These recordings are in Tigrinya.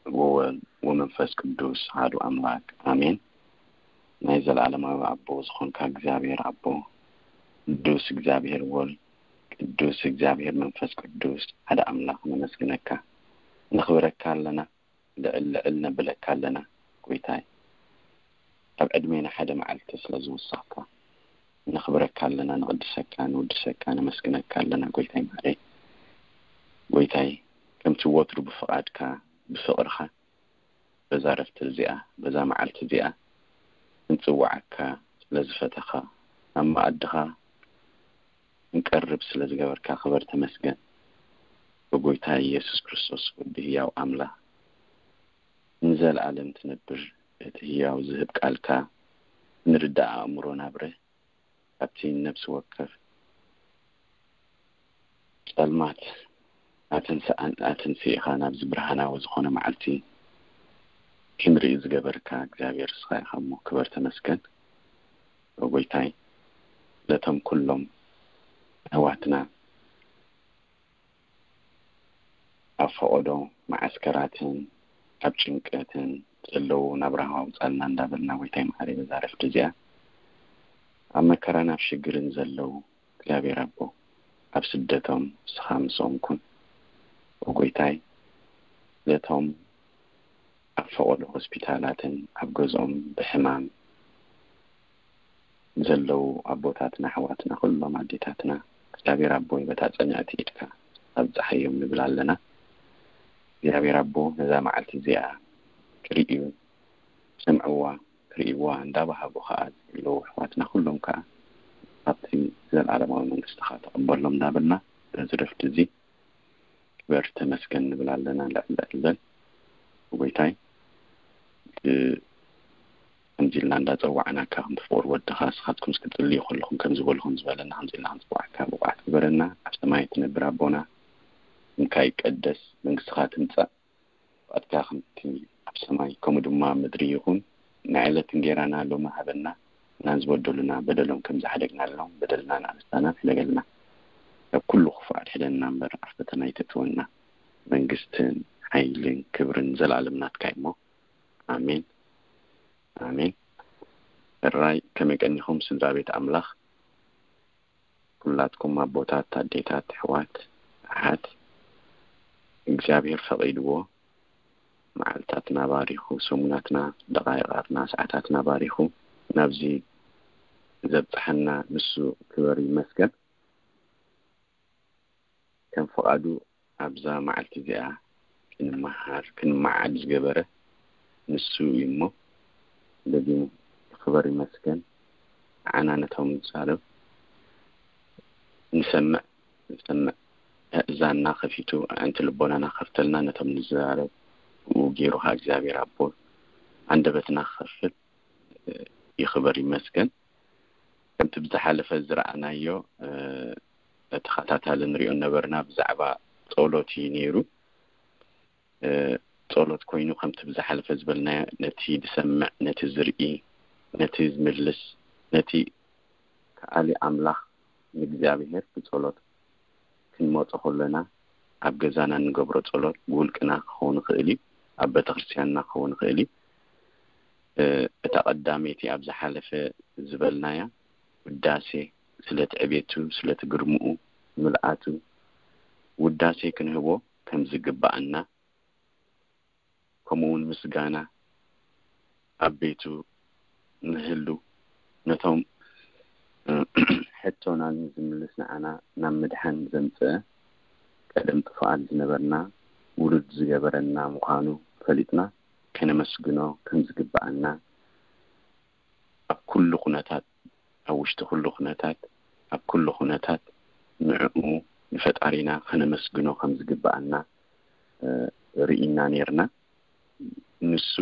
ወወልድ ወመንፈስ ቅዱስ ኣሐዱ ኣምላክ ኣሜን። ናይ ዘለኣለማዊ ኣቦ ዝኾንካ እግዚኣብሔር ኣቦ፣ ቅዱስ እግዚኣብሔር ወልድ፣ ቅዱስ እግዚኣብሔር መንፈስ ቅዱስ ሓደ ኣምላኽ ነመስግነካ፣ ነኽብረካ ኣለና፣ ልዕል ልዕል ነብለካ ኣለና። ጎይታይ፣ ኣብ ዕድሜና ሓደ መዓልቲ ስለ ዝወሰኽካ ነኽብረካ ኣለና፣ ንቕድሰካ፣ ንውድሰካ፣ ነመስግነካ ኣለና። ጎይታይ ማዕረይ፣ ጎይታይ፣ ከምቲ ወትሩ ብፍቓድካ፣ ብፍቕርኻ በዛ ረፍቲ እዚኣ፣ በዛ መዓልቲ እዚኣ እንጽውዓካ ስለ ዝፈተኻ፣ ኣብ መኣድኻ እንቀርብ ስለ ዝገበርካ ክበር ተመስገን። ብጎይታ ኢየሱስ ክርስቶስ ወዲ ህያው ኣምላኽ ንዘለኣለም ትነብር፣ እቲ ህያው ዝህብ ቃልካ ንርዳእ ኣእምሮ ናብረ ካብቲ ነብሲ ወከፍ ጸልማት ኣተንስኣን ኣተንስኢኻ ናብዚ ብርሃናዊ ዝኾነ መዓልቲ ክንርኢ ዝገበርካ እግዚኣብሔር እስኻ ኢኻ እሞ ክበር ተመስገን። ጎይታይ፣ ነቶም ኩሎም ኣሕዋትና ኣብ ፈቐዶ መዓስከራትን ኣብ ጭንቀትን ዘለዉ ናብራኻ ኣውጻልና እንዳበልና፣ ጎይታይ መሓሪ፣ በዛ ረፍቲ እዚኣ ኣብ መከራን ኣብ ሽግርን ዘለዉ እግዚኣብሔር ኣቦ፣ ኣብ ስደቶም ንስኻ ምስኦም ኩን። ጎይታይ፣ ነቶም ኣብ ፈቐዶ ሆስፒታላትን ኣብ ገዝኦም ብሕማም ዘለዉ ኣቦታትና፣ ኣሕዋትና፣ ኩሎም ኣዴታትና እግዚኣብሔር ኣቦይ በታ ጽንዕቲ ኢድካ ኣብጽሓዮም ንብል ኣለና። እግዚኣብሔር ኣቦ ነዛ መዓልቲ እዚኣ ክርእዩ፣ ክሰምዕዋ፣ ክርእይዋ እንዳባሃጉ ከኣ ዘለዉ ኣሕዋትና ኩሎም ከኣ ኣብቲ ዘለኣለማዊ መንግስትኻ ተቐበሎም እንዳበልና በዚ ረፍቲ እዚ ክበር ተመስገን ንብል ኣለና። ልዕል ልዕል በል ጎይታይ። እ፣ ከምዚ ኢልና እንዳጸዋዕናካ፣ ከምቲ ፍቕሪ ወድኻ ንስኻትኩም እስኪ ትጽልዩ ከለኹም ከምዚ በልኹም ዝበለና፣ ከምዚ ኢልና ክንጽዋዕካ ብቑዓት ግበረና። ኣብ ሰማይ እትነብር ኣቦና፣ ስምካ ይቀደስ፣ መንግስትኻ ትምጻእ፣ ፍቓድካ ከምቲ ኣብ ሰማይ ከምኡ ድማ ኣብ ምድሪ ይኹን። ናይ ዕለት እንጌራና ሎሚ ሃበና፣ ናን ዝበደሉና በደሎም ከም ዝሓደግናሎም በደልና ንኣበሳና ሕደገልና። ካብ ኩሉ ክፉእ ኣድሕነና እምበር ኣብ ፈተና ኣይተእትወና። መንግስትን ሓይልን ክብርን ዘላለም ናትካ እዩ እሞ፣ ኣሜን፣ ኣሜን። ሕራይ ከመይ ቀኒኹም ስድራ ቤት ኣምላኽ? ኩላትኩም ኣቦታት፣ ኣዴታት፣ ኣሕዋት፣ ኣሓት፣ እግዚኣብሔር ፈቒድዎ መዓልታትና ባሪኹ፣ ሰሙናትና፣ ደቓይቓትና፣ ሰዓታትና ባሪኹ ናብዚ ዘብጽሐና ንሱ ክበር ይመስገን። ከም ፍቓዱ ኣብዛ መዓልቲ እዚኣ ክንመሃር፣ ክንመዓድ ዝገበረ ንሱ እዩ እሞ፣ ደጊሙ ክበር ይመስገን። ንዓና ነቶም ንዛረብ፣ ንሰምዕ፣ ንሰምዕ፣ ኣእዛንና ከፊቱ፣ ኣዕንቲ ልቦናና ከፍተልና፣ ነቶም ንዛረብ ብኡ ገይሩ ከኣ እግዚኣብሔር ኣቦ፣ ኣንደበትና ክኸፍት፣ እ፣ ይኽበር ይመስገን። ከምቲ ብዝሓለፈ ዝረኣናዮ፣ እ፣ ተኸታታሊ ንሪኦ ነበርና፣ ብዛዕባ ጸሎት እዩ ነይሩ። እ፣ ጸሎት ኮይኑ፣ ከምቲ ብዝሓለፈ ዝበልናዮ፣ ነቲ ዝሰምዕ፣ ነቲ ዝርኢ፣ ነቲ ዝምልስ፣ ነቲ ከኣሊ ኣምላኽ ንእግዚኣብሔር ብጸሎት ክንመጾ ከሎና፣ ኣብ ገዛና እንገብሮ ጸሎት ብውልቅና ክኸውን ይኽእል እዩ፣ ኣብ ቤተክርስትያንና ክኸውን ይኽእል እዩ። እ፣ እታ ቀዳመይቲ ኣብ ዝሓለፈ ዝበልናያ ውዳሴ፣ ስለ ትዕቤቱ፣ ስለ ትግርምኡ፣ ምልኣቱ ውዳሴ ክንህቦ ከም ዝግባኣና፣ ከምኡ እውን ምስጋና ኣብ ቤቱ ንህሉ፣ ነቶም፣ እ፣ ሕቶና ዝምልስ ንዓና ናብ ምድሓን ዘምጽአ፣ ቀደም ጥፉኣት ዝነበርና ውሉድ ዝገበረና ምዃኑ ፈሊጥና ከነመስግኖ ከም ዝግባኣና፣ ኣብ ኩሉ ኩነታት፣ ኣብ ውሽጢ ኩሉ ኩነታት፣ ኣብ ኩሉ ኩነታት ንዕኡ ንፈጣሪና ከነመስግኖ ከም ዝግባኣና፣ እ፣ ርኢና ኔርና። ንሱ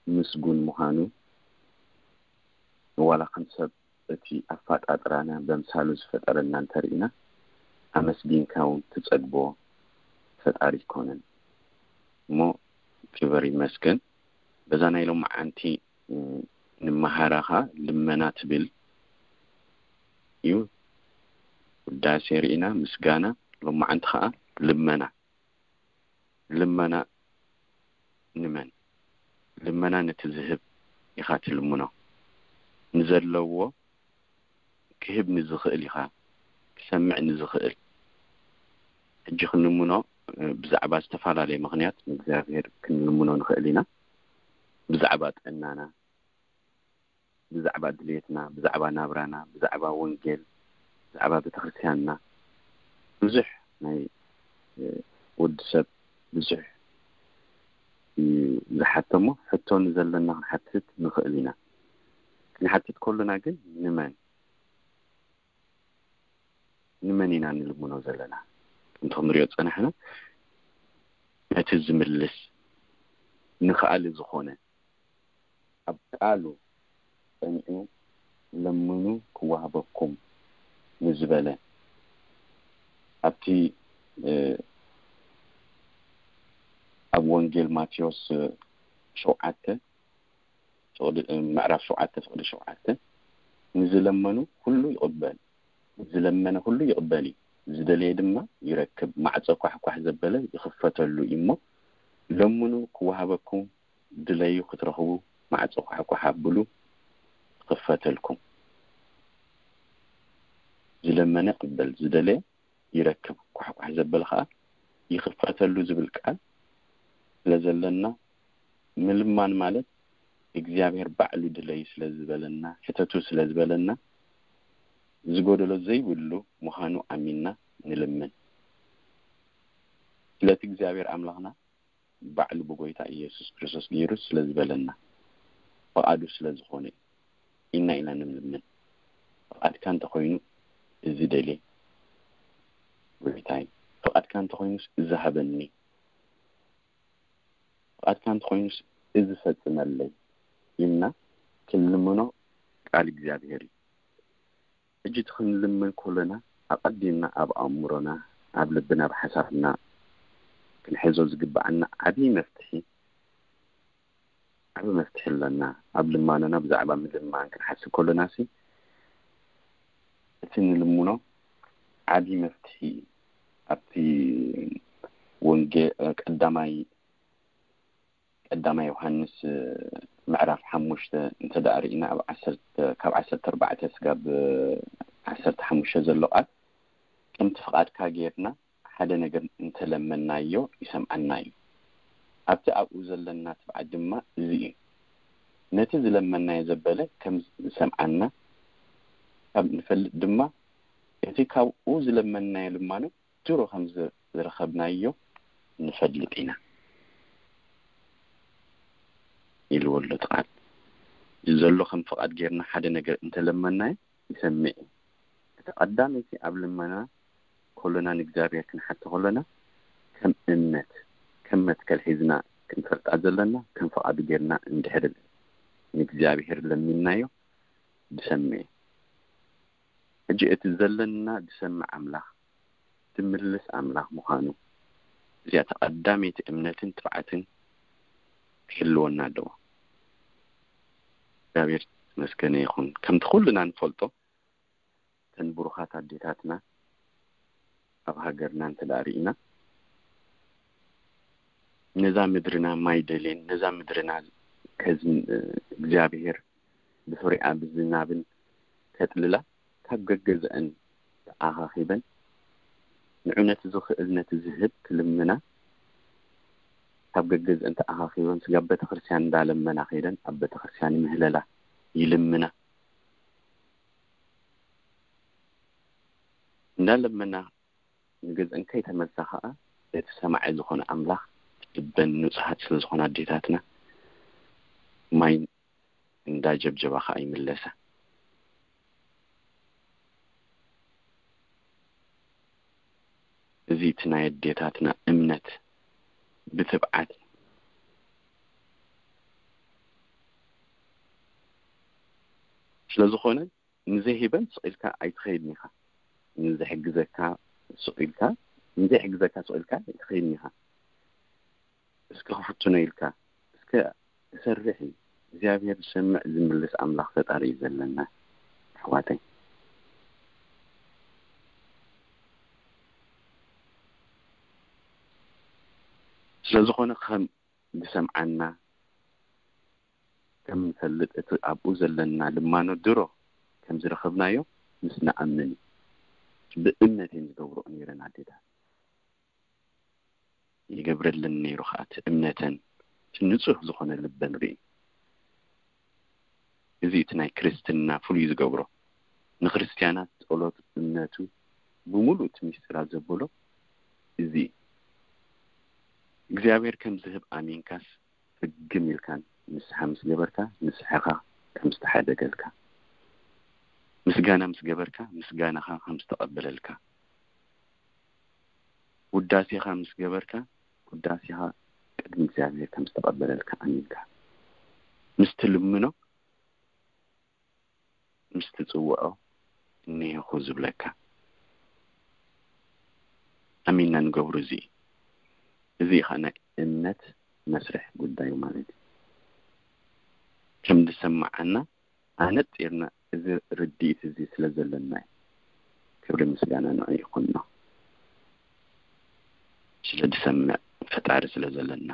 ምስጉን ምዃኑ፣ ዋላ ከም ሰብ እቲ ኣፈጣጥራና በምሳሉ ዝፈጠረና እንተርኢና፣ ኣመስጊንካ እውን ትጸግቦ ፈጣሪ ኣይኮነን እሞ፣ ክበር ይመስገን። በዛ ናይ ሎማዓንቲ፣ እ፣ ንመሃራ ኸኣ ልመና ትብል እዩ። ውዳሴ ርኢና፣ ምስጋና፣ ሎማዓንቲ ኸኣ ልመና። ልመና ንመን? ልመና ነቲ ዝህብ ኢኻ ትልምኖ። ንዘለዎ ክህብ ንዝኽእል ኢኻ ክሰምዕ ንዝኽእል። ሕጂ ክንልምኖ ብዛዕባ ዝተፈላለየ ምኽንያት ንእግዚኣብሔር ክንልምኖ ንኽእል ኢና። ብዛዕባ ጥዕናና፣ ብዛዕባ ድሌትና፣ ብዛዕባ ናብራና፣ ብዛዕባ ወንጌል፣ ብዛዕባ ቤተክርስትያንና ብዙሕ ናይ ወዲ ሰብ ብዙሕ ዝሓተሞ ሕቶ ንዘለና ክንሓትት ንኽእል ኢና። ክንሓትት ከሎና ግን ንመን ንመን ኢና ንልምኖ ዘለና? ከምቲ ክንሪኦ ዝጸናሕና ነቲ ዝምልስ ንኽኣሊ ዝኾነ ኣብ ቃሉ ጸኒዑ ለምኑ ክወሃበኩም ንዝበለ ኣብቲ ኣብ ወንጌል ማቴዎስ ሸውዓተ ምዕራፍ ሸውዓተ ፍቕዲ ሸውዓተ ንዝለመኑ ኩሉ ይቕበል ዝለመነ ኩሉ ይቕበል እዩ፣ ዝደለየ ድማ ይረክብ። ማዕጾ ኳሕኳሕ ዘበለ ይኽፈተሉ እዩ እሞ ለምኑ ክወሃበኩም፣ ድለዩ ክትረኽቡ፣ ማዕጾ ኳሕኳሕ ኣብሉ ክኽፈተልኩም። ዝለመነ ይቕበል፣ ዝደለየ ይረክብ፣ ኳሕኳሕ ዘበለ ኸዓ ይኽፈተሉ ዝብል ቃል ስለ ዘለና ምልማን ማለት እግዚኣብሔር ባዕሉ ድለዩ ስለ ዝበለና ሕተቱ ስለ ዝበለና ዝጎደሎ ዘይብሉ ምዃኑ ኣሚንና ንልምን። ስለቲ እግዚኣብሔር ኣምላኽና ባዕሉ ብጎይታ ኢየሱስ ክርስቶስ ገይሩ ስለ ዝበለና ፍቓዱ ስለ ዝኾነ ኢና ኢና ንልምን። ፍቓድካ እንተኾይኑ እዚ ደልየ ጎይታይ፣ ፍቓድካ እንተኾይኑስ እዚ ሃበኒ፣ ፍቓድካ እንተኾይኑስ እዚ ፈጽመለይ ኢልና ክንልምኖ ቃል እግዚኣብሔር እዩ። ሕጂ እቲ ክንልምን ከሎና ኣቐዲምና ኣብ ኣእምሮና፣ ኣብ ልብና፣ ኣብ ሓሳብና ክንሕዞ ዝግብኣና ዓብዪ መፍትሒ ዓቢ መፍትሒ ኣለና። ኣብ ልማኖና ብዛዕባ ምልማን ክንሓስብ ከሎና ሲ እቲ ንልምኖ ዓቢ መፍትሒ እዩ። ኣብቲ ወንጌ ቀዳማይ ቀዳማይ ዮሃንስ ምዕራፍ ሓሙሽተ እንተ ደኣ ርኢና ኣብ ዓሰርተ ካብ ዓሰርተ ኣርባዕተ ስጋብ ዓሰርተ ሓሙሽተ ዘሎ ቃል ከምቲ ፍቓድካ ጌርና ሓደ ነገር እንተለመናዮ ይሰምዓና እዩ። ኣብቲ ኣብኡ ዘለና ትብዓት ድማ እዚ እዩ። ነቲ ዝለመናዮ ዘበለ ከም ዝሰምዓና ካብ ንፈልጥ ድማ እቲ ካብኡ ዝለመናዮ ልማኖ ድሮ ከም ዝረኸብናዮ ንፈልጥ ኢና ኢልዎ ኣሎ እቲ ቃል። ዘሎ ከም ፍቓድ ጌርና ሓደ ነገር እንተለመናዮ ይሰምዕ እዩ። እቲ ቀዳመይቲ ኣብ ልመና ከሎና ንእግዚኣብሔር ክንሓቶ ከሎና ከም እምነት ከም መትከል ሒዝና ክንፈልጣ ዘለና ከም ፍቓዱ ጌርና እንድሕር ንእግዚኣብሔር ለሚንናዮ ዝሰምዕ እዩ። ሕጂ እቲ ዘለና ዝሰምዕ ኣምላኽ ዝምልስ ኣምላኽ ምዃኑ እዚኣ ተቐዳመይቲ እምነትን ትብዓትን ክህልወና ኣለዎ። እግዚኣብሔር ተመስገነ ይኹን። ከምቲ ኩልና ንፈልጦ እተን ብሩኻት ኣዴታትና ኣብ ሃገርና እንተ ደኣ ርኢና ነዛ ምድርና ማይ ደልየን ነዛ ምድርና ከዝን እግዚኣብሔር ብፍሬኣ ብዝናብን ከጥልላ ካብ ገገዝአን ተኣኻኺበን ንዑ ነቲ ዝኽእል ነቲ ዝህብ ክልምና ካብ ገገዝአን ተኣኻኺበን ስጋብ ቤተክርስትያን እንዳለመና ከይደን ኣብ ቤተክርስትያን ይምህለላ ይልምና እንዳለመና ንገዝአን ከይተመልሳ ከዓ እቲ ሰማዒ ዝኾነ ኣምላኽ ልበን ንጹሃት ስለ ዝኾነ ኣዴታትና ማይ እንዳጀብጀባ ከዓ ይምለሳ። እዚ እቲ ናይ ኣዴታትና እምነት ብትብዓት ስለ ዝኾነ ንዘይሂበን ስቕ ኢልካ ኣይትኸይድን ኢኻ። ንዝሕግዘካ ስቕ ኢልካ ንዘይሕግዘካ ስቕ ኢልካ ኣይትኸይድን ኢኻ። እስከ ክፍትኖ ኢልካ እስከ እሰርሕ እዩ። እግዚኣብሔር ዝሰምዕ ዝምልስ ኣምላኽ ፈጣሪ እዩ ዘለና ኣሕዋተይ። ስለዝኾነ ከም ዝሰምዓና ከም ንፈልጥ፣ እቲ ኣብኡ ዘለና ልማኖ ድሮ ከም ዝረኸብናዮ ምስ ንኣምን እዩ። ብእምነት እየን ዝገብርኦ ነይረን ኣዴታት። ይገብረለን ነይሩ ኸዓ፣ እቲ እምነተን፣ እቲ ንጹህ ዝኾነ ልበን ርኢ። እዚ እቲ ናይ ክርስትና ፍሉይ ዝገብሮ። ንክርስትያናት ጸሎት እምነቱ ብምሉእ እቲ ምስጢራት ዘብሎ እዚ እዩ። እግዚኣብሔር ከም ዝህብ ኣሚንካስ፣ ፍግም ኢልካን ንስሓ ምስ ገበርካ፣ ንስሕኻ ከም ዝተሓደገልካ፣ ምስጋና ምስ ገበርካ፣ ምስጋናኻ ከም ዝተቐበለልካ፣ ውዳሴኻ ምስ ገበርካ፣ ውዳሴኻ ቅድሚ እግዚኣብሔር ከም ዝተቐበለልካ ኣሚንካ ምስ ትልምኖ፣ ምስ ትጽውዖ፣ እኒሄኹ ዝብለካ። ኣሚንና ንገብሩ እዚ እዩ። እዚ እዩ ኸዓ ናይ እምነት መስርሕ ጉዳዩ ማለት እዩ። ከም ዝሰማዓና ኣነጺርና እዚ ርድኢት እዚ ስለ ዘለና እዩ። ክብሪ ምስጋና ንዑ ይኹኖ። ስለ ዝሰምዕ ፈጣሪ ስለ ዘለና፣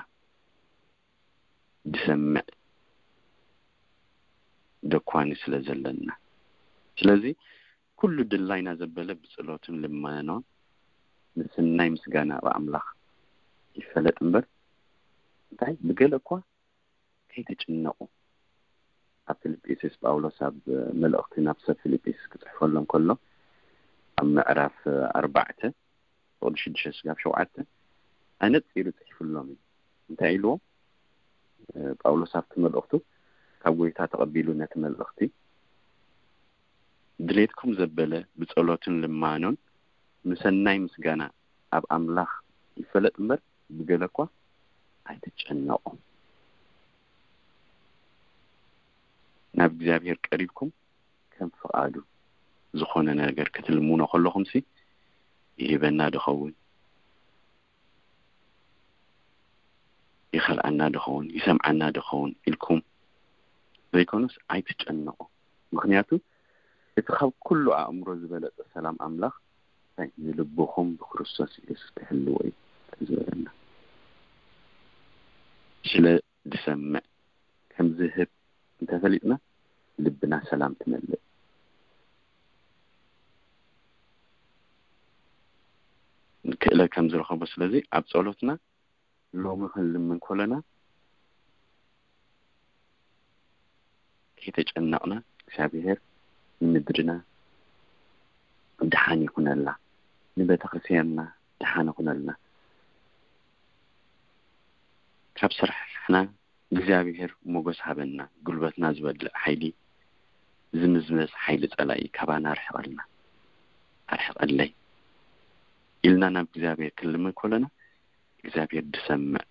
ዝሰምዕ ደኳኒ ስለ ዘለና። ስለዚ ኩሉ ድላይና ዘበለ ብጸሎትን ልመናን ምስናይ ምስጋና ኣብ ኣምላኽ ይፈለጥ እምበር፣ እንታይ ብገለ እኳ ከይትጭነቑ። ኣብ ፊልጵስዩስ ጳውሎስ ኣብ መልእኽቲ ናብ ሰብ ፊልጵስዩስ ክጽሕፈሎም ከሎ ኣብ ምዕራፍ ኣርባዕተ ቁጽሪ ሽዱሽተ ስጋብ ሸውዓተ ኣነጺሩ ጽሒፍሎም እዩ። እንታይ ኢልዎም? እ፣ ጳውሎስ ኣብቲ መልእኽቱ ካብ ጎይታ ተቐቢሉ ነቲ መልእኽቲ ድሌትኩም ዘበለ ብጸሎትን ልማኖን ምሰናይ ምስጋና ኣብ ኣምላኽ ይፈለጥ እምበር ብገለ እኳ ኣይትጨነቑ። ናብ እግዚኣብሔር ቀሪብኩም ከም ፍቓዱ ዝኾነ ነገር ክትልምኖ ከለኹምሲ ይህበና ድኸውን፣ ይኸልኣና ድኸውን፣ ይሰምዓና ድኸውን ኢልኩም ዘይኮነስ ኣይትጨነቑ። ምኽንያቱ እቲ ካብ ኩሉ ኣእምሮ ዝበለጸ ሰላም ኣምላኽ እንታይ ንልብኹም ብክርስቶስ ኢየሱስ ክሕልዎ እዩ ዝበለና። ስለ ዝሰምዕ ከም ዝህብ እንተፈሊጥና ልብና ሰላም ትመልእ። ክእለት ከም ዝረኸቦ ስለዚ ኣብ ጸሎትና ሎሚ ክንልምን ኮለና ከይተጨነቕና እግዚኣብሔር ንምድርና ደሓን ይኹነላ፣ ንቤተክርስትያንና ደሓን ይኹነልና። ካብ ስራሕና እግዚኣብሔር ሞገስ ሃበና፣ ጉልበትና ዝበልዕ ሓይሊ፣ ዝምዝመዝ ሓይሊ ጸላኢ ካባና ኣርሕቐልና፣ ኣርሕቐለይ ኢልና ናብ እግዚኣብሔር ክንልምን ኮለና እግዚኣብሔር ዝሰምዕ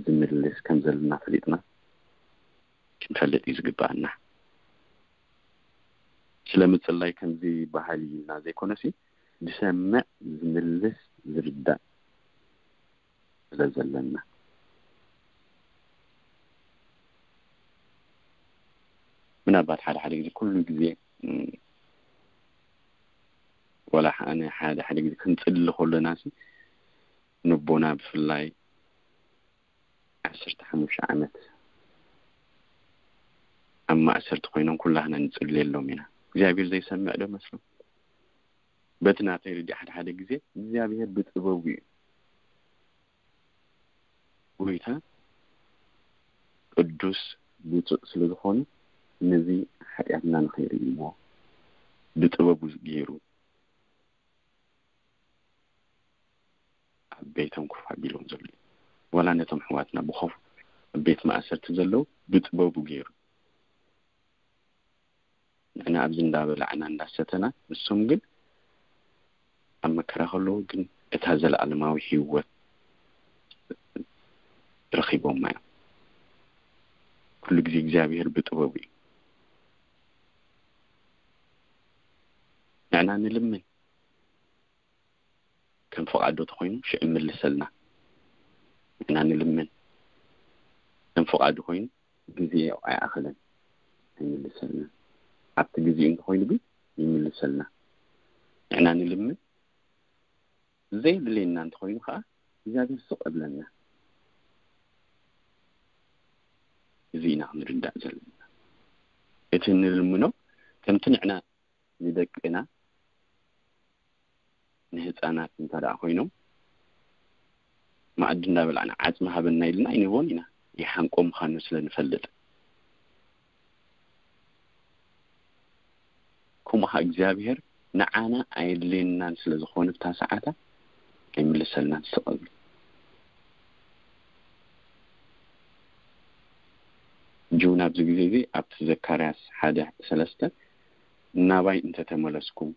ዝምልስ ከም ዘለና ፈሊጥና ክንፈልጥ እዩ ዝግባኣና። ስለ ምጽላይ ከምዚ በሃል እዩ ኢልና ዘይኮነሲ ዝሰምዕ ዝምልስ ዝርዳእ ስለ ዘለና። ምናልባት ሓደ ሓደ ግዜ ኩሉ ግዜ፣ እም፣ ወላ ኣነ ሓደ ሓደ ግዜ ክንጽሊ ከለና ሲ ንቦና ብፍላይ ዓሰርተ ሓሙሽተ ዓመት ኣብ ማእሰርቲ ኮይኖም ኩላህና ንጽልየሎም ኢና። እግዚኣብሔር ዘይሰምዕ ዶ መስሎ? በቲ ናተይ ርድኢ ሓደ ሓደ ግዜ እግዚኣብሔር ብጥበቡ እዩ። ጎይታ ቅዱስ ብፁዕ ስለ ዝኾነ ነዚ ሓጢኣትና ንኸይርእይዎ ብጥበቡ ገይሩ ኣብ ቤቶም ኮፍ ኣቢሎም ዘለዉ፣ ዋላ ነቶም ኣሕዋትና ብኾፍ ኣብ ቤት ማእሰርቲ ዘለዉ ብጥበቡ ገይሩ ንሕና ኣብዚ እንዳበላዕና እንዳሰተና ንሶም ግን ኣብ መከራ ከለዉ ግን እታ ዘለኣለማዊ ህይወት ረኺቦማ እዮም። ኩሉ ግዜ እግዚኣብሔር ብጥበቡ እዩ። ንሕና ንልምን ከም ፍቓዱ ተኾይኑ ሽዑ ይምልሰልና። ንሕና ንልምን ከም ፍቓዱ ኮይኑ ግዜ ኣይኣኸለን ኣይምልሰልና። ኣብቲ ግዜኡ እንተኾይኑ ግን ይምልሰልና። ንሕና ንልምን ዘየድልየና እንተኾይኑ ከዓ እግዚኣብሔር ስቕ እብለና። እዚ ኢና ክንርዳእ ዘለና። እቲ ንልምኖ ከምቲ ንዕና ንደቅና ንህፃናት እንተ ደኣ ኮይኖም መኣዲ እንዳበላዕና ዓፅሚ ሃበና ኢልና ኣይንህቦን ኢና፣ ይሓንቆ ምዃኑ ስለ ንፈልጥ። ከምኡ ኸዓ እግዚኣብሔር ንዓና ኣየድልየናን ስለ ዝኾነ ብታ ሰዓታ ኣይምልሰልናን ስቕ ኢሉ። ሕጂ እውን ኣብዚ ግዜ እዚ ኣብቲ ዘካርያስ ሓደ ሰለስተ ናባይ እንተተመለስኩም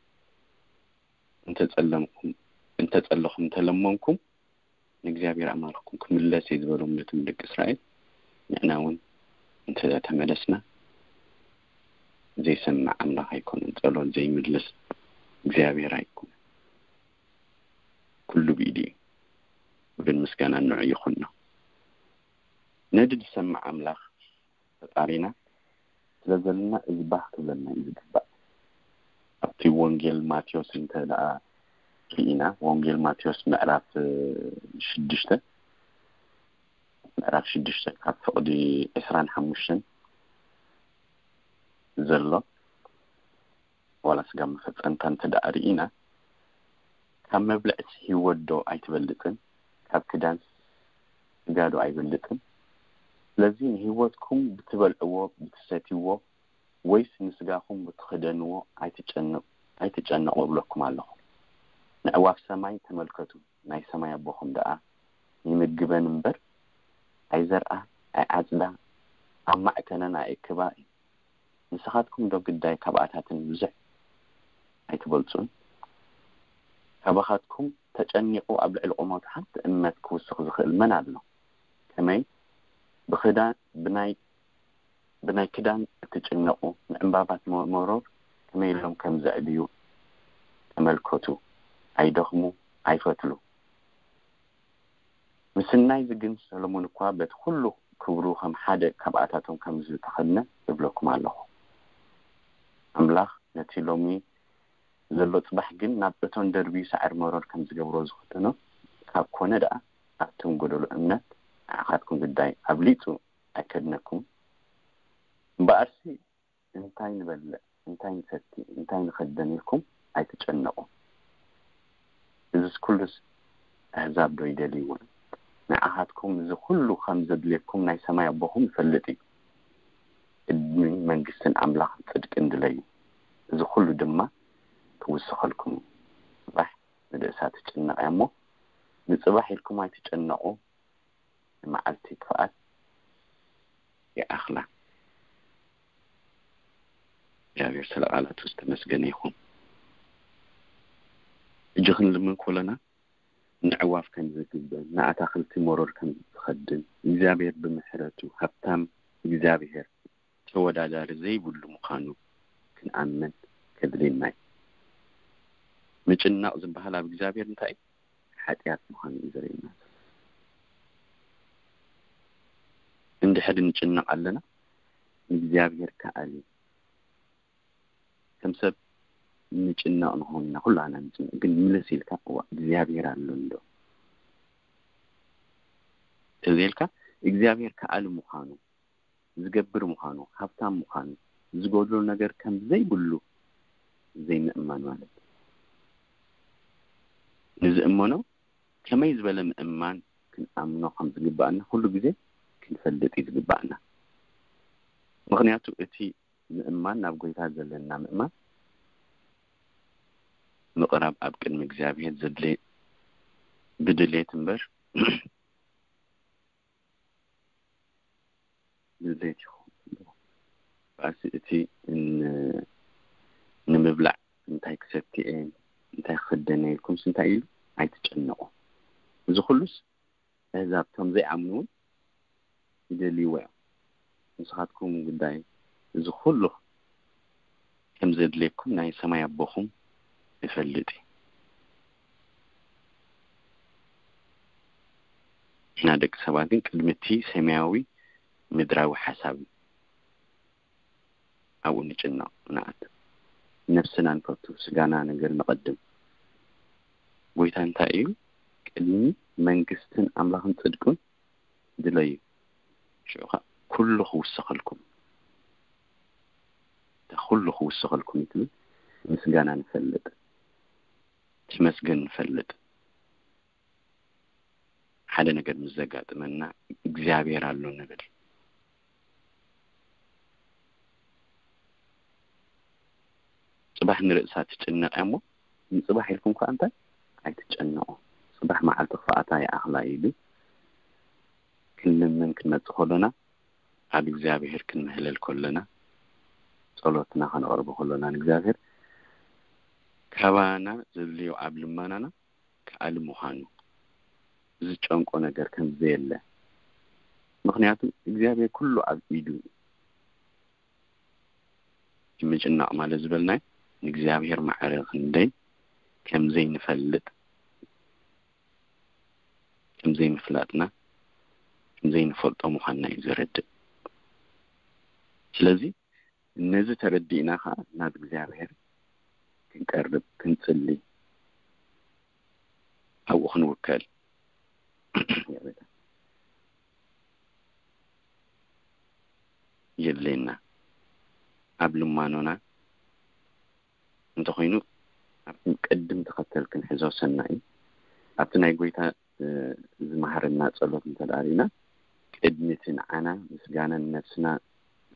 እንተጸለምኩም እንተጸለኹም እንተለመንኩም ንእግዚኣብሔር ኣማልኽኩም ክምለስ እየ ዝበሎም ነቶም ደቂ እስራኤል። ንዕና እውን እንተ ተመለስና ዘይሰምዕ ኣምላኽ ኣይኮነን፣ ጸሎት ዘይምልስ እግዚኣብሔር ኣይኮነን። ኩሉ ብኢዱ እዩ። ክብርን ምስጋናን ንዑ ይኹኖ። ነዲ ዝሰምዕ ኣምላኽ ፈጣሪና ስለ ዘለና እዚ ባህ ክብለና እዩ ዝግባእ። ኣብቲ ወንጌል ማቴዎስ እንተ ደኣ ርኢና፣ ወንጌል ማቴዎስ ምዕራፍ ሽዱሽተ ምዕራፍ ሽዱሽተ ካብ ፍቕዲ ዕስራን ሓሙሽተን ዘሎ ዋላ ስጋ መፈጸምታ እንተ ደኣ ርኢና፣ ካብ መብልዕስ ህይወት ዶ ኣይትበልጽን? ካብ ክዳንስ ስጋ ዶ ኣይበልጽን? ስለዚ ንህይወትኩም ብትበልዕዎ ብትሰትይዎ ወይስ ንስጋኹም ብትኽደንዎ ኣይትጨነቁ ኣይትጨነቁ እብለኩም ኣለኹ። ንዕዋፍ ሰማይ ተመልከቱ፣ ናይ ሰማይ ኣቦኹም ደኣ ይምግበን እምበር ኣይዘርኣ ኣይዓጽዳ ኣብ ማዕከነን ኣየእክባ እዩ። ንስኻትኩም ዶ ግዳይ ካብኣታትን ብዙሕ ኣይትበልጹን? ካባኻትኩም ተጨኒቑ ኣብ ልዕሊ ቁመቱ ሓንቲ እመት ክውስኽ ዝኽእል መን ኣሎ? ከመይ ብኽዳን ብናይ ብናይ ክዳን እትጭነቑ ንዕምባባት መ- መሮር ከመይ ኢሎም ከም ዘዕብዩ ተመልከቱ። ኣይደኽሙ ኣይፈትሉ። ምስናይ ግን ሰሎሞን እኳ በቲ ኩሉ ክብሩ ከም ሓደ ካብኣታቶም ከም ዝተኸድነ እብለኩም ኣለኹ። ኣምላኽ ነቲ ሎሚ ዘሎ ጽባሕ ግን ናብ እቶን ደርብዩ ሳዕሪ መሮር ከም ዝገብሮ ዝኽደኖ ካብ ኮነ ደኣ ኣብቶም ጎደሎ እምነት ንዓኻትኩም ግዳይ ኣብሊጹ ኣይከድነኩም። እምበኣርሲ እንታይ ንበልዕ እንታይ ንሰቲ እንታይ ንኸደን ኢልኩም ኣይትጨነቑ። እዝስ ኩሉስ ኣህዛብ ዶ ይደልይዎ? ንዓኻትኩም እዚ ኩሉ ከም ዘድልየኩም ናይ ሰማይ ኣቦኹም ይፈልጥ እዩ። ቅድሚ መንግስትን ኣምላኽን ጽድቅን ድለዩ፣ እዚ ኩሉ ድማ ክውስኸልኩም እዩ። ጽባሕ ንርእሳ ትጭነቕ እያ እሞ ንጽባሕ ኢልኩም ኣይትጨነቑ። ንመዓልቲ ክፍኣት ይኣኽላ። እግዚኣብሔር ስለ ቃላቱ ዝተመስገነ ይኹን። ሕጂ ክንልምን ከለና ንዕዋፍ ከም ዝግበን ንኣታኽልቲ መሮር ከም ዝኸድን እግዚኣብሔር ብምሕረቱ ሃብታም እግዚኣብሔር ተወዳዳሪ ዘይብሉ ምዃኑ ክንኣምን ከድልየና እዩ። ምጭናቕ ዝበሃል ኣብ እግዚኣብሔር እንታይ ሓጢኣት ምዃኑ እዩ ዘርእየና። እንድሕር ንጭነቕ ኣለና ንእግዚኣብሔር ከኣል እዩ። ከም ሰብ ንጭነቕ ንኸውን ኢና፣ ኩላና ንጭነቕ። ግን ምልስ ኢልካ እዋ እግዚኣብሔር ኣሎ እንዶ ተዘይልካ እግዚኣብሔር ከኣል ምዃኑ ዝገብር ምዃኑ፣ ሃብታም ምዃኑ፣ ዝጎድሎ ነገር ከም ዘይብሉ ዘይምእማን ማለት እዩ። ንዝእመኖ ከመይ ዝበለ ምእማን ክንኣምኖ ከም ዝግባኣና ኩሉ ግዜ ክንፈልጥ እዩ ዝግባኣና። ምኽንያቱ እቲ ምእማን ናብ ጎይታ ዘለና ምእማን ምቕራብ ኣብ ቅድሚ እግዚኣብሔር ዘድልየ ብድሌት እምበር ድሌት ይኸውን። ባእሲ እቲ ን- ንምብላዕ እንታይ ክሰቲ እየ እንታይ ክኽደን እየ ኢልኩምስ እንታይ ኢሉ ኣይትጨነቑ። እዚ ኩሉስ ኣህዛብ እቶም ዘይኣምኑ እውን ይደልይዎ እዮም። ንስኻትኩም ጉዳይ እዚ ኩሉ ከም ዘድልየኩም ናይ ሰማይ ኣቦኹም ይፈልጥ እዩ። ንሕና ደቂ ሰባት ግን ቅድሚ እቲ ሰማያዊ ምድራዊ ሓሳብ ኣብኡ ንጭነቕ ንኣት ነፍስና ንፈቱ ስጋና ነገር ንቐድም። ጎይታ እንታይ እዩ? ቅድሚ መንግስትን ኣምላኽን ጽድቁን ድለዩ ሽዑ ኸዓ ኩሉ ክውሰኸልኩም፣ ኩሉ ክውሰኸልኩም እዩ ትብል። ምስጋና ንፈልጥ፣ ተመስገን ንፈልጥ። ሓደ ነገር ምስ ዘጋጥመና እግዚኣብሔር ኣሎ ንብል። ጽባሕ ንርእሳ ትጭነቕ እያ እሞ፣ ንጽባሕ ኢልኩም ከኣ እንታይ ኣይትጨነቑ። ጽባሕ መዓልቲ ክፍኣታ ይኣኽላ ኢሉ ክንልምን ክንመጽእ ከሎና፣ ኣብ እግዚኣብሔር ክንምህለል ከሎና፣ ጸሎትና ከነቕርቦ ከሎና ንእግዚኣብሔር፣ ካባና ዘድልዮ ኣብ ልመናና ክኣሊ ምዃኑ፣ ዝጨንቆ ነገር ከም ዘየለ። ምኽንያቱ እግዚኣብሔር ኩሉ ኣብ ኢዱ እዩ። ምጭናቕ ማለት ዝበልናዮ ንእግዚኣብሔር ማዕረ ክንደይ ከም ዘይንፈልጥ፣ ከም ዘይምፍላጥና፣ ከም ዘይንፈልጦ ምዃንና እዩ ዘረድእ። ስለዚ ነዚ ተረዲእና ኸዓ ናብ እግዚኣብሔር ክንቀርብ፣ ክንጽሊ፣ ኣብኡ ክንውከል የድልየና። ኣብ ልማኖና እንተኾይኑ፣ ኣብ ቅድም ተኸተል ክንሕዞ ሰናይ እዩ። ኣብቲ ናይ ጎይታ፣ እ፣ ዝመሃረና ጸሎት እንተ ደኣ ርኢና፣ ቅድሚ እቲ ንዓና ምስጋናን ነብስና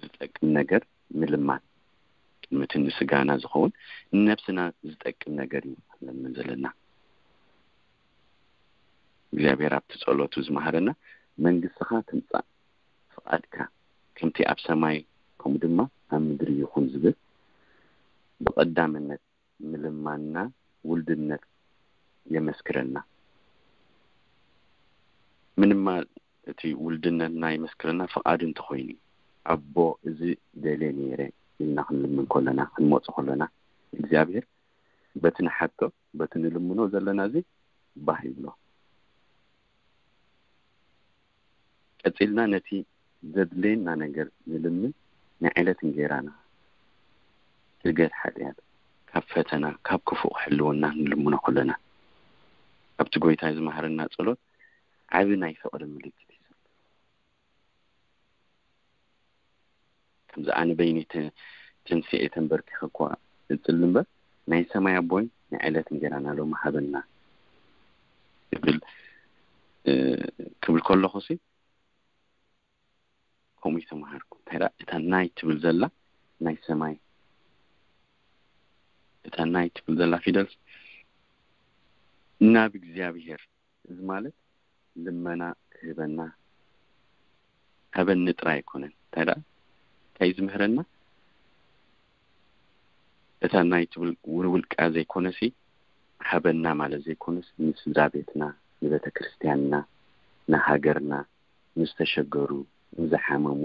ዝጠቅም ነገር ምልማን፣ ቅድሚ እቲ ንስጋና ዝኸውን ንነብስና ዝጠቅም ነገር እዩ ክንለምን ዘለና። እግዚኣብሔር ኣብቲ ጸሎቱ ዝመሃረና፣ "መንግስትኻ ትምጻእ፣ ፍቓድካ ከምቲ ኣብ ሰማይ ከምኡ ድማ ኣብ ምድሪ ይኹን" ዝብል ብቐዳምነት ምልማንና ውልድነት የመስክረልና። ምንማ እቲ ውልድነትና የመስክረልና ፍቓዱ እንተኾይኑ፣ "ኣቦ፣ እዚ ደልየ ነይረ" ኢልና ክንልምን ከለና፣ ክንመጽእ ከለና፣ እግዚኣብሔር በቲ ንሓቶ፣ በቲ ንልምኖ ዘለና እዚ ባህ ይብሎ። ቀጺልና ነቲ ዘድልየና ነገር ንልምን፣ ናይ ዕለት እንጌራና፣ ስርገት ሓጢኣት፣ ካብ ፈተና፣ ካብ ክፉእ ክሕልወና ንልምኖ ከለና፣ ኣብቲ ጎይታ ዝመሃረና ጸሎት ዓቢ ናይ ፍቕሪ ምልክት እዩ ዘሎ። ከምዚ ኣነ በይነይ ተ-፣ ተንሲኤ ተንበርኪኸ እኳ እጽሊ እምበር፣ ናይ ሰማይ ኣቦይ፣ ናይ ዕለት እንጌራና ሎሚ ሃበና ክብል፣ እ፣ ክብል ከለኹሲ፣ ከምኡ ይተምሃርኩ። እንታይ ደኣ፣ እታ ናይ ትብል ዘላ ናይ ሰማይ፣ እታ ናይ ትብል ዘላ ፊደል ናብ እግዚኣብሔር፣ እዚ ማለት ልመና ክህበና፣ ሃበኒ ጥራይ ኣይኮነን። እንታይ ደኣ፣ እንታይ እዩ ዝምህረና? እታ ናይ ትብል ውልውልቃ ዘይኮነሲ፣ ሃበና ማለት ዘይኮነስ፣ ንስድራ ቤትና፣ ንቤተ ክርስቲያንና፣ ንሃገርና፣ ንዝተሸገሩ፣ ንዝሓመሙ፣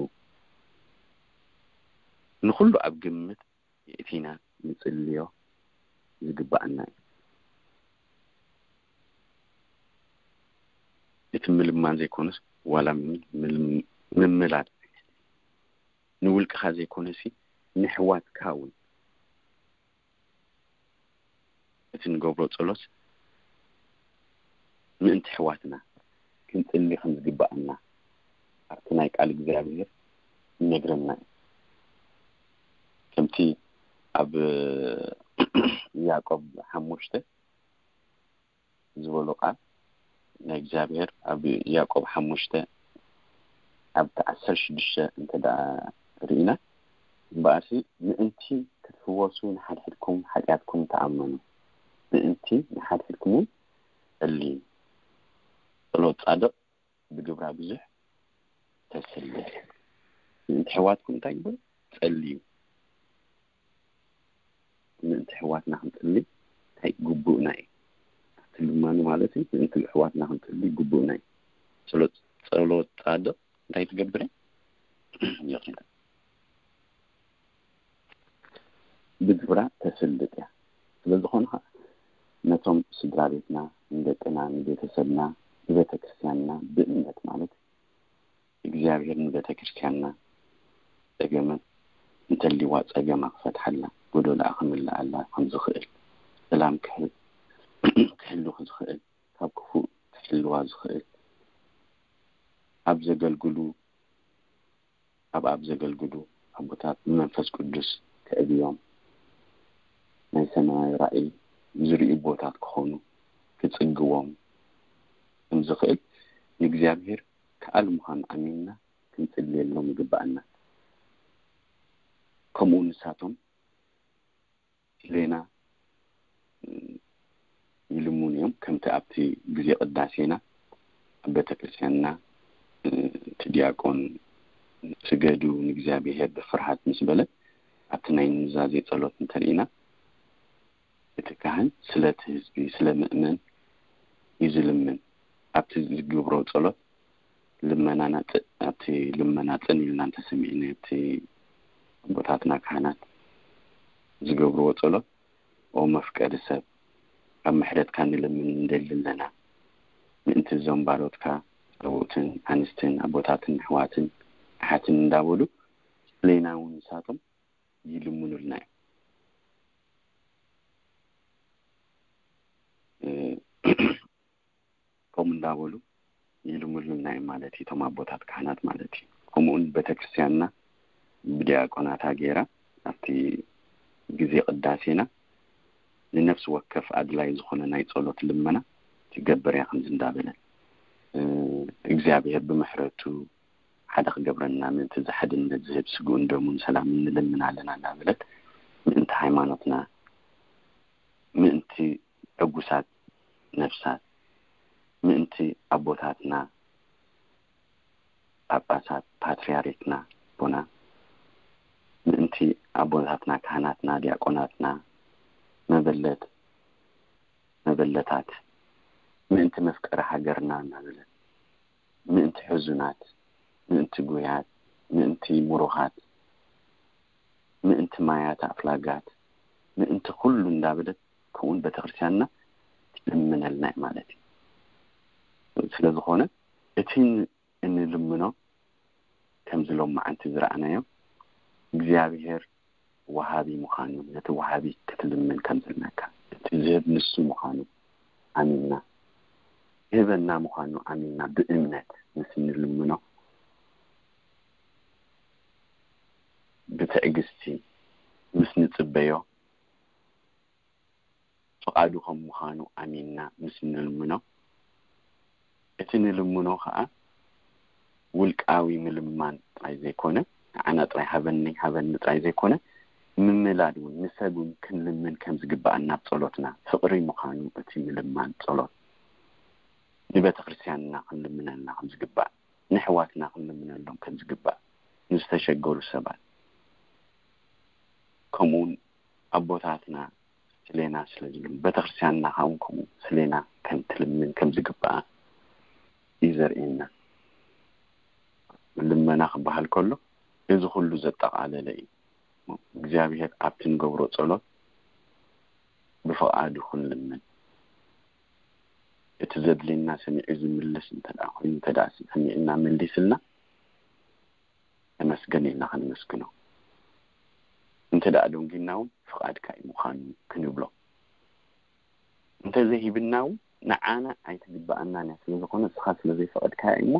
ንኹሉ ኣብ ግምት የእቲና ንጽልዮ ዝግባኣና እዩ። እቲ ምልማን ዘይኮነስ፣ ዋላ ምን-፣ ምልም-፣ ምምላድ፣ ንውልቅኻ ዘይኮነሲ፣ ንሕዋትካ እውን እቲ ንገብሮ ጸሎት ምእንቲ ኣሕዋትና ክንጽሊ ከም ዝግብኣና ኣብቲ ናይ ቃል እግዚኣብሔር ይነግረና እዩ። ከምቲ ኣብ ያዕቆብ ሓሙሽተ ዝበሎ ቃል ናይ እግዚኣብሔር ኣብ ያዕቆብ ሓሙሽተ ኣብቲ ዓሰርተ ሽዱሽተ እንተ ደኣ ርኢና፣ እምበኣርሲ ምእንቲ ክትፍወሱ ንሓድሕድኩም ሓጢኣትኩም ተኣመኑ፣ ምእንቲ ንሓድሕድኩም እውን ጸልዩ። ጸሎት ጻድቕ ብግብራ ብዙሕ ተስልጥ። ምእንቲ ኣሕዋትኩም እንታይ ይብል? ጸልዩ። ምእንቲ ኣሕዋትና ክንጽሊ እንታይ ግቡእና እዩ? ኣብቲ ልማኑ ማለት እዩ። ምእንቲ ኣሕዋትና ክንጽሊ ግቡእና እዩ። ጸሎት፣ ጸሎት ጻድቕ እንታይ ትገብር እያ? ይቕሬታ። ብግብራ ተስልጥ እያ። ስለ ዝኾነ ኸዓ ነቶም ስድራ ቤትና፣ ንደቅና፣ ንቤተሰብና፣ ንቤተ ክርስቲያንና ብእምነት ማለት እግዚኣብሔር ንቤተ ክርስቲያንና ጸገመ እንተልዋ ጸገማ ክፈትሓላ፣ ጎደሎኣ ክምልኣላ ከም ዝኽእል፣ ሰላም ክህ-፣ ክህሉ ዝኽእል፣ ካብ ክፉእ ክሕልዋ ዝኽእል፣ ኣብ ዘገልግሉ ኣብ ኣብ ዘገልግሉ ኣቦታት ብመንፈስ ቅዱስ ክዕብዮም፣ ናይ ሰማያዊ ራእይ ዝርእዩ ኣቦታት ክኾኑ ክጽግዎም ከም ዝኽእል ንእግዚኣብሔር ከኣል ምዃኑ ኣሚንና ክንጽልየሎም ይግብኣና። ከምኡ ንሳቶም ስሌና ይልሙን እዮም። ከምቲ ኣብቲ ግዜ ቅዳሴና ኣብ ቤተክርስትያንና እቲ ዲያቆን ስገዱ ንእግዚኣብሔር ብፍርሃት ምስ በለ ኣብቲ ናይ ኑዛዜ ጸሎት እንተርኢና እቲ ካህን ስለቲ ህዝቢ ስለ ምእመን እዩ ዝልምን። ኣብቲ ዝግብሮ ጸሎት ልመናና ኣብቲ ልመና ጽን ኢልና እንተሰሚዕና ኣብቲ ኣቦታትና ካህናት ዝገብርዎ ጸሎት ኦ መፍቀሪ ሰብ ካብ ምሕረትካ ንልምን እንደሊ ኣለና ምእንቲ እዞም ባሮትካ ሰብኡትን ኣንስትን ኣቦታትን ኣሕዋትን ኣሓትን እንዳበሉ ስለና እውን ንሳቶም ይልምኑልና እዮም። ከምኡ እንዳበሉ ይልምሉና እዮም ማለት እዩ፣ እቶም ኣቦታት ካህናት ማለት እዩ። ከምኡውን ቤተክርስትያንና ብዲያቆናታ ገይራ ኣብቲ ግዜ ቅዳሴና ንነፍሲ ወከፍ ኣድላይ ዝኾነ ናይ ጸሎት ልመና ትገብር እያ። ከምዚ እንዳበለ እግዚኣብሔር ብምሕረቱ ሓደ ክገብረና ምእንቲ ዝሓድነት ዝህብ ስግኡን ደሙን ሰላምን ንልምን ኣለና እንዳበለት ምእንቲ ሃይማኖትና ምእንቲ ዕጉሳት ነፍሳት ምእንቲ ኣቦታትና ጳጳሳት ፓትርያርክና ኣቦና ምእንቲ ኣቦታትና ካህናትና ዲያቆናትና መበለት መበለታት ምእንቲ መፍቀሪ ሃገርና እናበለት ምእንቲ ሕዙናት ምእንቲ ጉያት ምእንቲ ምሩኻት ምእንቲ ማያት ኣፍላጋት ምእንቲ ኩሉ እንዳበለት ከምኡውን ቤተክርስትያንና ትልምነልና እዩ ማለት እዩ። ስለዝኾነ እቲ እንልምኖ ከምዚ ሎም መዓንቲ ዝረኣናዮ እግዚኣብሔር ወሃቢ ምዃኑ ነቲ ወሃቢ ክትልምን ከም ዘለካ እቲ ዝህብ ንሱ ምዃኑ ኣሚንና ይህበና ምዃኑ ኣሚንና ብእምነት ምስ እንልምኖ ብትዕግስቲ ምስ ንጽበዮ ፍቓዱ ከም ምዃኑ ኣሚንና ምስ እንልምኖ እቲ ንልምኖ ከዓ ውልቃዊ ምልማን ጥራይ ዘይኮነ ንዓና ጥራይ ሃበኒ ሃበኒ ጥራይ ዘይኮነ ምምላድ እውን ንሰብ እውን ክንልምን ከም ዝግባእ ናብ ጸሎትና ፍቕሪ ምዃኑ እቲ ምልማን ጸሎት ንቤተ ክርስትያንና ክንልምነልና ከም ዝግባእ ንሕዋትና ክንልምነሎም ከም ዝግባእ ንዝተሸገሩ ሰባት ከምኡውን ኣቦታትና ስሌና ስለ ዝልም ቤተክርስትያንና ካውን ከምኡ ስሌና ከም ትልምን ከም ዝግባኣ እዩ ዘርእየና። ልመና ክበሃል ከሎ እዚ ኩሉ ዘጠቓለለ እዩ። እግዚኣብሔር ኣብቲ ንገብሮ ጸሎት ብፍቓዱ ክንልምን እቲ ዘድልየና ሰሚዑ ዝምልስ እንተ ኮይኑ እንተ ሰሚዕና መሊስልና ተመስገን ኢልና ከነመስግኖ እንተ ደኣ ደንጊና እውን ፍቓድካ እዩ ምዃኑ ክንብሎ እንተዘይሂብና እውን ንዓና ኣይትግበኣናን እያ ስለ ዝኾነ እስኻ ስለ ዘይፈቐድካያ እዩ እሞ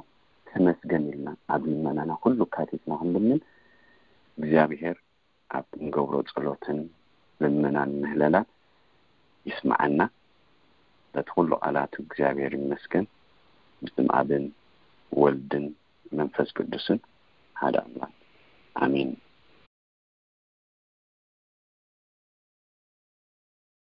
ተመስገን ኢልና ኣብ ልመናና ኩሉ ካቲትና ክንልምን እግዚኣብሔር ኣብ እንገብሮ ጸሎትን ልመናን ምህለላን ይስምዓና። በቲ ኩሉ ቃላቱ እግዚኣብሔር ይመስገን። ብስም ኣብን ወልድን መንፈስ ቅዱስን ሓደ ኣምላክ ኣሜን።